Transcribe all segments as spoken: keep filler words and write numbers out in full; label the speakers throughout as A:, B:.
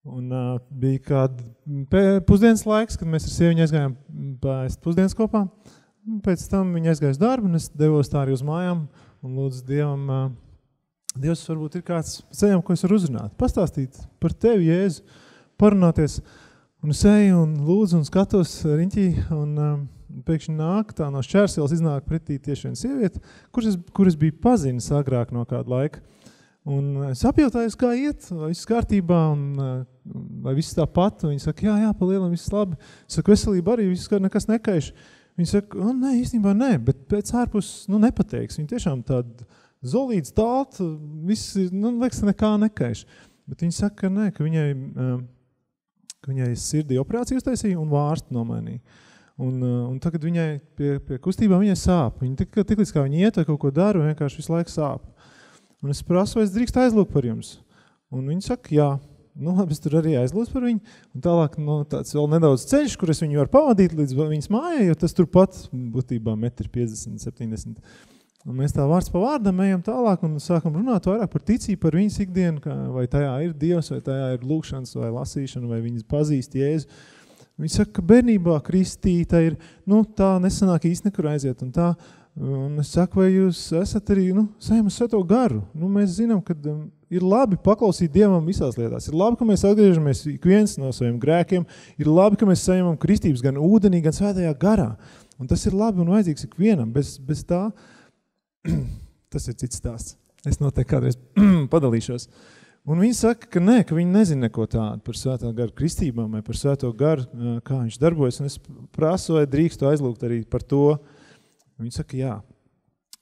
A: Un uh, bija kāda pusdienas laiks, kad mēs ar sieviņu aizgājām pēst pusdienas kopā. Pēc tam viņa aizgāja uz darbu, un es devos tā arī uz mājām un lūdzu Dievam, uh, Dievs varbūt ir kāds ceļam, ko es varu uzrunāt, pastāstīt par tevi, Jēzu, parunāties. Un es eju un lūdzu un skatos riņķī, un uh, pēkšņi nāk, tā no šķērsielas iznāk pretī tieši viena sieviete, kuras es, kuras biju pazinis agrāk no kāda laika. Un es apjautājos, kā iet, vai viss kārtībā, un vai viss tāpat. Un viņi saka, jā, jā, pa lielam, viss labi. Es saku, veselība arī, viss nekas nekaiš. Viņi saka, oh, nē, īstenībā nē, bet pēc ārpus, nu, nepateiks. Viņi tiešām tāda zolīts tālt, viss, nu, liekas, nekā nekaiš. Bet viņi saka, ka nē, ka viņai, ka viņai sirdī operāciju uztaisīja un vārstu nomainīja. Un, un tagad viņai pie, pie kustībām viņai sāp. Viņa tik, tik līdz kā viņa iet vai kaut ko dara, vienkārši visu laiku sāp. Un es prasu, vai es drīkst aizlūgt par jums. Un viņi saka, jā. Nu, labi, es tur arī aizlūdzu par viņu. Un tālāk, nu, tāds vēl nedaudz ceļš, kur es viņu varu pavadīt līdz viņas mājai, jo tas tur pat būtībā metri piecdesmit, septiņdesmit. Un mēs tā vārds pa vārdam ejam tālāk un sākam runāt vairāk par ticību, par viņas ikdienu, kā, vai tajā ir Dievs, vai tajā ir lūkšanas, vai lasīšana, vai viņas pazīst Jēzu. Viņi saka, ka bērnībā kristīta ir, nu, tā nesanāk īsti nekur aiziet un tā. Un es saku, vai jūs esat arī, nu, saņemat Svēto garu. Nu, mēs zinām, ka um, ir labi paklausīt Dievam visās lietās. Ir labi, ka mēs atgriežamies ik viens no saviem grēkiem. Ir labi, ka mēs saņemam kristības gan ūdenī, gan Svētajā garā. Un tas ir labi un vajadzīgs ik vienam. Bez, bez tā, tas ir cits stāsts. Es noteikti kādreiz padalīšos. Un viņi saka, ka nē, ka viņi nezina neko tādu par Svētā garu kristībām vai par Svēto garu, kā viņš darbojas. Un es prasu, vai drīkstu aizlūgt arī par to. Viņi saka, jā.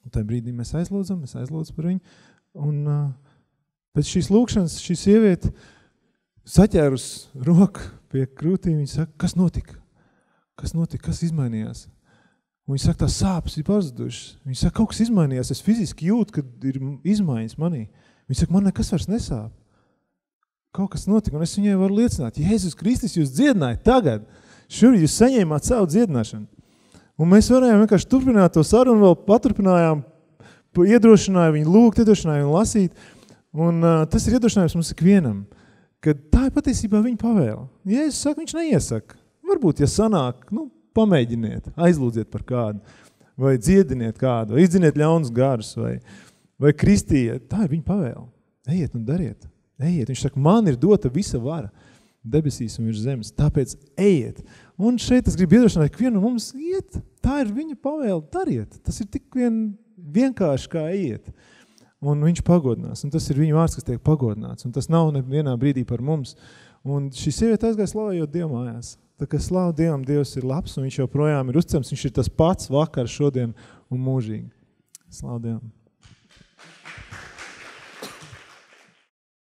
A: Un tajā brīdī mēs aizlūdzam, mēs aizlūdzu par viņu. Un uh, pēc šīs lūkšanas šī sieviete saķērus roku pie krūtīm. Viņa saka, kas notika? Kas notika? Kas izmainījās? Un viņa saka, tā sāpes ir pazudušas. Viņa saka, kaut kas izmainījās. Es fiziski jūtu, ka ir izmaiņas manī. Viņa saka, man nekas vairs nesāp. Kaut kas notika. Un es viņai varu liecināt, Jēzus Kristus jūs dziedināja tagad. Šur jūs saņēmāt savu dziedināšanu. Un mēs varējām vienkārši turpināt to sarunu, vēl paturpinājām, iedrošināja viņu lūgt, iedrošināja viņu lasīt. Un uh, tas ir iedrošinājums mums ikvienam, ka tā ir patiesībā viņa pavēle. Jēzus saka, viņš neiesaka. Varbūt, ja sanāk, nu, pamēģiniet, aizlūdziet par kādu, vai dziediniet kādu, vai izdziniet ļaunus garus, vai, vai kristiet. Tā ir viņa pavēle. Ejiet un dariet. Ejiet. Viņš saka, man ir dota visa vara debesīs un virs zemes, tāpēc ejiet. Un šeit es gribu iedrošināt, ka vienu mums iet, tā ir viņa pavēle, dariet. Tas ir tik vien vienkārši kā ejiet. Un viņš pagodinās, un tas ir viņa vārds, kas tiek pagodināts, un tas nav nevienā brīdī par mums. Un šī sieviete aizgāja slavējot Dievu mājās. Tā kā slavu Dievam, Dievs ir labs, un viņš joprojām ir uzticams, viņš ir tas pats vakar, šodien un mūžīgi. Slavu Dievam.